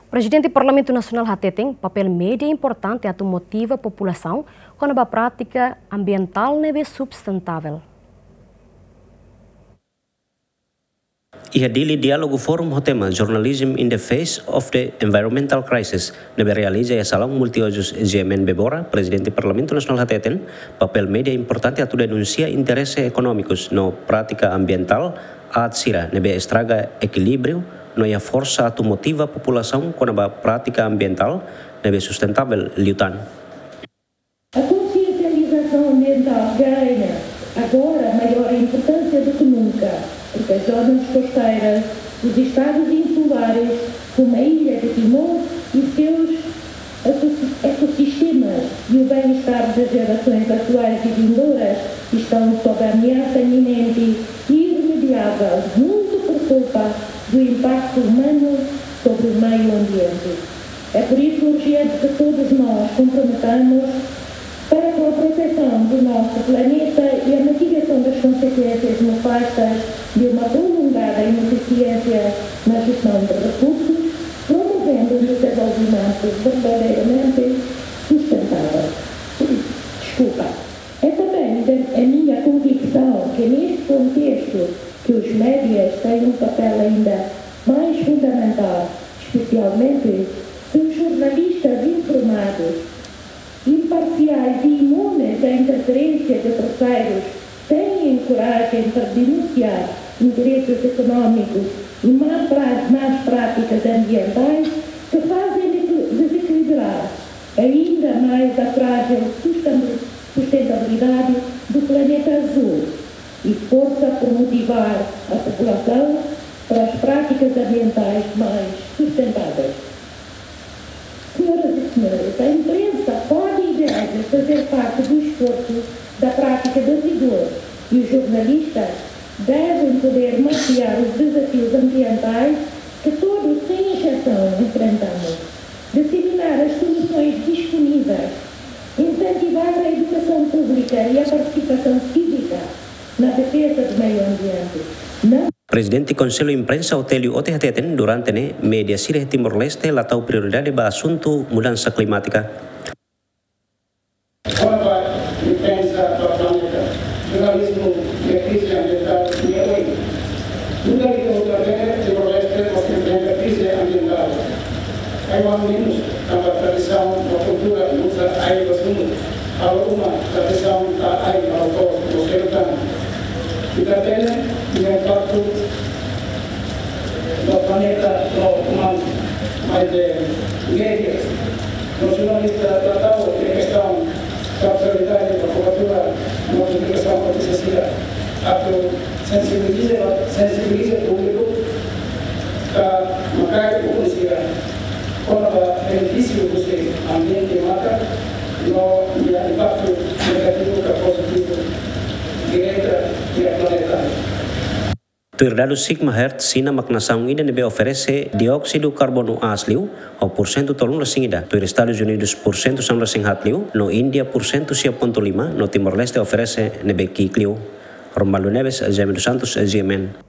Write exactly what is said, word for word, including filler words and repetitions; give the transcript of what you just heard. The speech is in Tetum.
Prezidente Parlamentu Nasionál hateten papél média importante atu motiva populasaun kona-ba prátika ambientál ne'ebé sustentável. Iha Dili, diálogu fórum ho tema Journalism in the Face of the Environmental Crisis ne'ebé realiza iha Salaun Multiuzus GMN Bebora, Prezidente Parlamentu Nasionál hateten papél média importante atu denunsia interese ekonómikus no prátika ambientál aat sira ne'ebé estraga ekilíbriu no iha forsa atu motiva populasaun kona-ba prátika ambientál ne'ebé sustentável liután. A consciencialização ambiental ganha agora maior importância do que nunca, porque as zonas costeiras, os estados insulares, como a ilha de Timor e seus ecosi-, ecossistemas e o bem-estar das gerações atuais e vindouras estão sob ameaça iminente e irremediável, muito por culpa do impacto humano sobre o meio ambiente. É por isso urgente que todos nós comprometamos para com a proteção do nosso planeta e a mitigação das consequências nefastas de uma prolongada ineficiência na gestão de recursos, promovendo um desenvolvimento verdadeiramente sustentável. Desculpa. É também de, é minha convicção que neste contexto que os médias têm um papél ainda mais fundamental, especialmente se os jornalistas informados, imparciais e imunes à interferência de terceiros têm coragem para denunciar interesses económicos e má pra-, más práticas ambientais que fazem desequilibrar ainda mais a frágil sustentabilidade do planeta azul e força por motivar a população para as práticas ambientais mais sustentáveis. Senhoras e senhores, a imprensa pode e deve fazer parte do esforço da prática de rigor e os jornalistas devem poder mapear os desafios ambientais que todos, sem exceção, enfrentamos, disseminar as soluções disponíveis, incentivar a educação pública e a participação cívica na defesa do meio ambiente. Não Prezidente Konsellu Imprensa Otélio Ote hateten durante ne'e média sira iha Timor-Leste la tau prioridade ba asuntu mudansa klimátika. Kona-ba imprensa ba planeta, jornalizmu iha krize ambientál ne'e oin. Nu'udar ita hotu hatene, Timor-Leste mós enfrenta krize ambientál. Ai-oan menus, tanba tradisaun no kultura uza ai ba sundu, halo uma tradisaun tau ai ba la'o toos, no selu tan. Ita hatene, nia impaktu ba planeta no umanu, maibé média no jornalista la tau nia kestaun ba prioridade ba kobertura no publikasaun notísia sira. Atu sensibiliza, sensibiliza públiku ka makai ukun sira kona-ba benefísiu husi ambiente matan no nia impaktu negativu ka pozitivu direta iha planeta. Tuir dadus Sigma Health, Xina mak nasaun ida ne'ebé oferese dióksidu karbonu aas liu ho pursentu tolunulu-resin-ida, tuir Estadus Unidus pursentu sanulu-resin-haat liu, no Índia pursentu sia pontu lima, no Timor-Leste oferese ne'ebé ki'ik liu. Romualdo Neves, Jaime dos Santos, GMN.